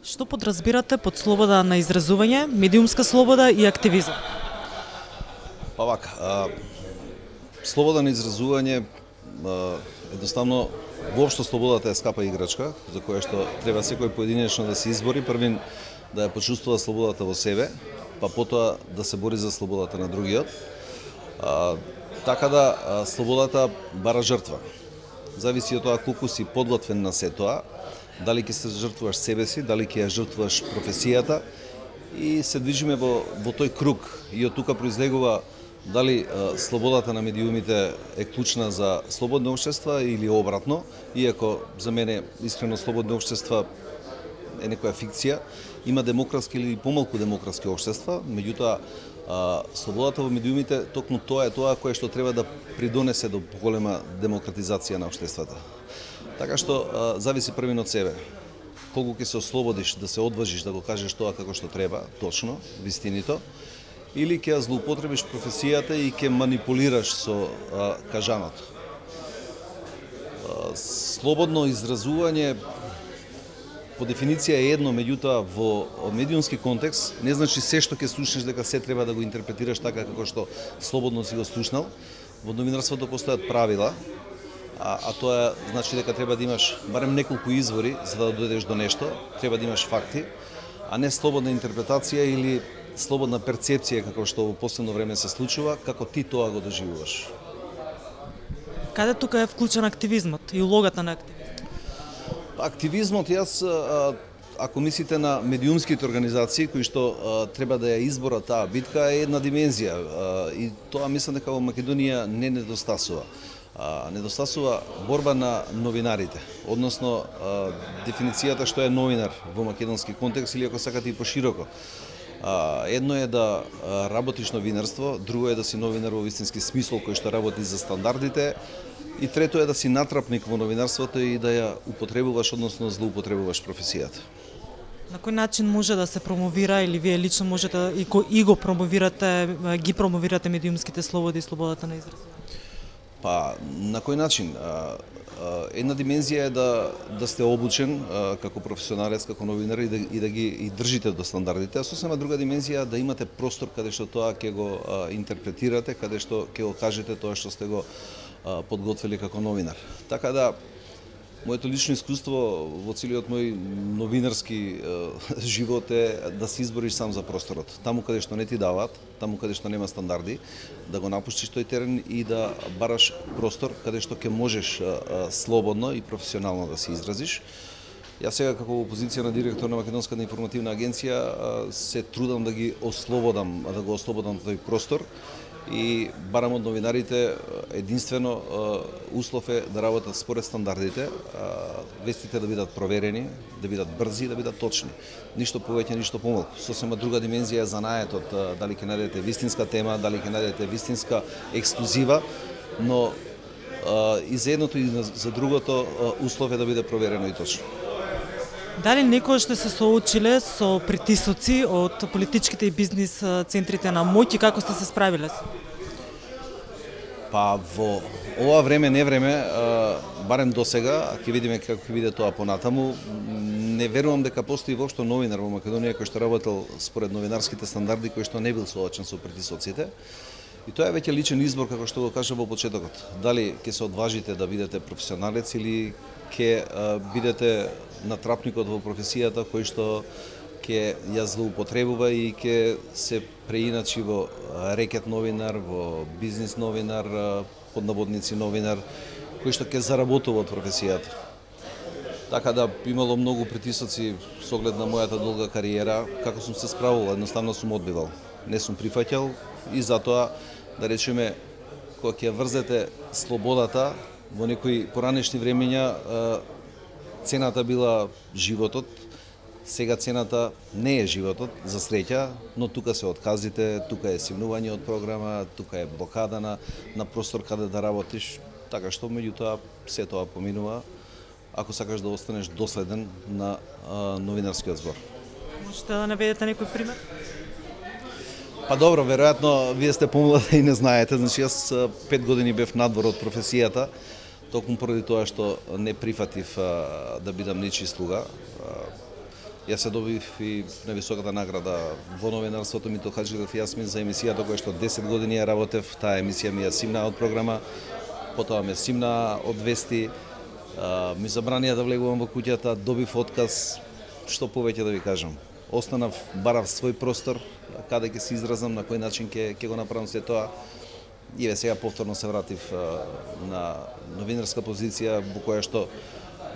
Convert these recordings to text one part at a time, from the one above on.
Што подразбирате под слобода на изразување, медиумска слобода и активизам? Па вака, слобода на изразување, едноставно, воопшто слободата е скапа играчка, за која што треба секој поединечно да се избори, првин да ја почувствува слободата во себе, па потоа да се бори за слободата на другиот. Така да, слободата бара жртва. Зависи од тоа колку си подготвен на се тоа, дали ќе се жртвуваш себе си, дали ќе ја жртвуваш професијата, и се движиме во тој круг. И од тука произлегува дали слободата на медиумите е клучна за слободни општества или обратно, иако за мене искрено слободни општества е некоја фикција. Има демократски или помалку демократски општества, меѓутоа слободата во медиумите токму тоа е тоа кое што треба да придонесе до поголема демократизација на општествата. Така што зависи првин од себе. Колку ќе се ослободиш да се одважиш да го кажеш тоа како што треба, точно, вистинито, или ќе ја злоупотребиш професијата и ќе манипулираш со кажаното. Слободно изразување по дефиниција е едно, меѓутоа во медиумски контекст не значи се што ќе слушнеш дека се треба да го интерпретираш така како што слободно си го слушнал. Во новинарството постојат правила, а тоа значи дека треба да имаш барем неколку извори за да дојдеш до нешто, треба да имаш факти, а не слободна интерпретација или слободна перцепција како што во последно време се случува, како ти тоа го доживуваш. Каде тука е вклучен активизмот и улогата на активизмот? Активизмот, ако мислите на медиумските организации кои што треба да ја изборат таа битка, е една димензија и тоа мислам дека во Македонија не недостасува. Недостасува борба на новинарите, односно дефиницијата што е новинар во македонски контекст или ако сакате и пошироко. Едно е да работиш новинарство, друго е да си новинар во вистински смисол кој што работи за стандардите, и трето е да си натрапник во новинарството и да ја употребуваш, односно злоупотребуваш професијата. На кој начин може да се промовира или вие лично можете и го промовирате, ги промовирате медиумските слободи и слободата на изразување? Па, на кој начин? Една димензија е да сте обучен како професионалец, како новинар и да ги држите до стандардите, а сосема друга димензија да имате простор каде што тоа ќе го интерпретирате, каде што ќе го кажете тоа што сте го подготвили како новинар. Така да, моето лично искуство во целиот мој новинарски живот е да се избориш сам за просторот. Таму каде што не ти даваат, таму каде што нема стандарди, да го напуштиш тој терен и да бараш простор каде што ќе можеш слободно и професионално да се изразиш. Јас сега како во позиција на директор на Македонската информативна агенција се трудам да ги ослободам, да го ослободам тој простор и барам од новинарите единствено услов е да работат според стандардите, вестите да бидат проверени, да бидат брзи, да бидат точни. Ништо повеќе, ништо помалку. Сосема друга димензија е занаетот, дали ќе најдете вистинска тема, дали ќе најдете вистинска ексклузива, но и за едното и за другото услов е да биде проверено и точно. Дали некој што се соочиле со притисоци од политичките и бизнис центрите на моќ и како сте се справиле? Па во ова време, не време, барем до сега, ќе видиме како ќе биде тоа понатаму, не верувам дека постои воопшто новинар во Македонија кој што работел според новинарските стандарди, кој што не бил соочен со притисоците. И тоа е веќе личен избор, како што го кажа во почетокот. Дали ќе се одважите да бидете професионалец или ќе бидете натрапникот во професијата кој што ќе ја злоупотребува и ќе се преиначи во рекет новинар, во бизнис новинар, под наводници новинар, кој што ќе заработува од професијата. Така да имало многу притисоци со оглед на мојата долга кариера, како сум се справувал, едноставно сум одбивал. Не сум прифаќал и затоа, да речеме, кога ќе врзете слободата во некои поранешни времења, цената била животот, сега цената не е животот, за среќа, но тука се отказите, тука е симнување од програма, тука е блокада на простор каде да работиш, така што меѓутоа се тоа поминува, ако сакаш да останеш доследен на новинарскиот збор. Можете да наведете некој пример? Па добро, веројатно вие сте помлади и не знаете, значи јас 5 години бев надвор од професијата, токму поради тоа што не прифатив да бидам ничи слуга. Јас се добив и на високата награда во новинарството Мито Хаџилев и Јасмин за емисијата која што 10 години ја работев. Таа емисија ми ја симна од програма, потоа ме симна од вести, ми забранија да влегувам во куќата, добив отказ, што повеќе да ви кажам. Останав, барав свој простор, каде ќе се изразам, на кој начин ќе го направам се тоа. И сега повторно се вратив на новинарска позиција во која што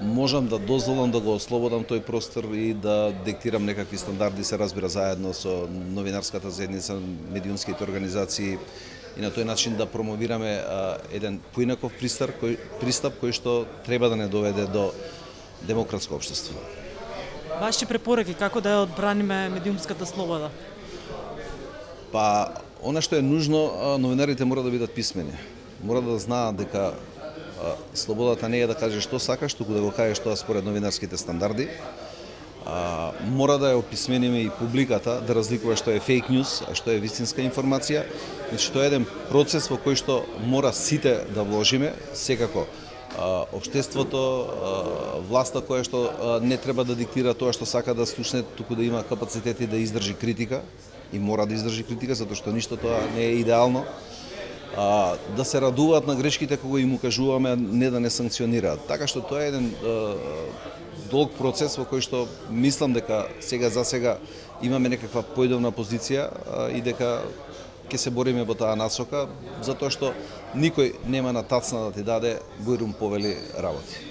можам да дозволам да го ослободам тој простор и да диктирам некакви стандарди, се разбира, заедно со новинарската заедница, медиумските организации и на тој начин да промовираме еден поинаков пристап кој што треба да не доведе до демократско општество. Ваши препораки како да ја одбраниме медиумската слобода? Па, она што е нужно, новинарите мора да бидат писмени. Мора да знаат дека слободата не е да кажеш што сакаш, туку да го кажеш тоа според новинарските стандарди. Мора да ја описмениме и публиката, да разликува што е фейк ньюс, а што е вистинска информација. Значи, тоа е еден процес во кој што мора сите да вложиме, секако. Општеството, власта која што не треба да диктира тоа што сака да слушне, туку да има капацитети да издржи критика и мора да издржи критика, затоа што ништо тоа не е идеално. Да се радуваат на грешките кога им укажуваме, не да не санкционираат. Така што тоа е еден долг процес во кој што мислам дека сега за сега имаме некаква поидовна позиција и дека ќе се бориме во таа насока, затоа што никој нема на тацна да ти даде бујрум повели работи.